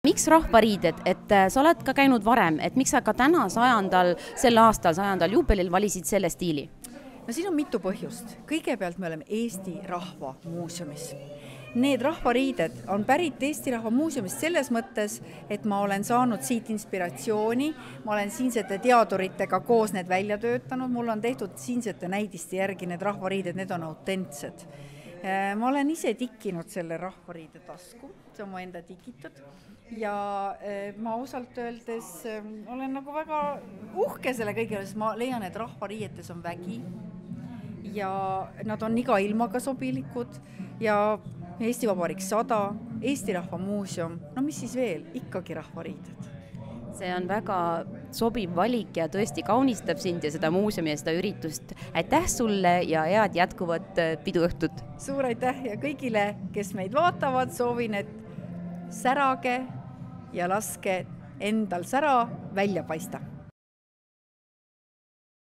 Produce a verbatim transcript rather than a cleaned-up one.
Miks rahvariided, et sa oled ka käinud varem, et miks sa ka täna sajandal, sel aastal sajandal juubelil valisid selle stiili? No siin on mitu põhjust. Kõigepealt me oleme Eesti Rahva Muuseumis. Need rahvariided on pärit Eesti Rahva Muuseumist selles mõttes, et ma olen saanud siit inspiratsiooni, ma olen siinsete teaduritega koos need välja töötanud, mul on tehtud siinsete näidiste järgi need rahvariided, need on autentsed. Ma olen ise tikkinud selle rahvariide tasku, see on mu enda tikitud ja ma osalt öeldes olen nagu väga uhke selle kõigele, sest ma leian, et rahvariietes on vägi ja nad on iga ilmaga sobilikud ja Eesti Vabariik sada, Eesti Rahva Muuseum, no mis siis veel, ikkagi rahvariided. See on väga sobiv valik ja tõesti kaunistab sind ja seda muuseumi ja seda üritust. Aitäh sulle ja head jätkuvat piduõhtut! Suur aitäh ja kõigile, kes meid vaatavad, soovin, et särage ja laske endal sära välja paista.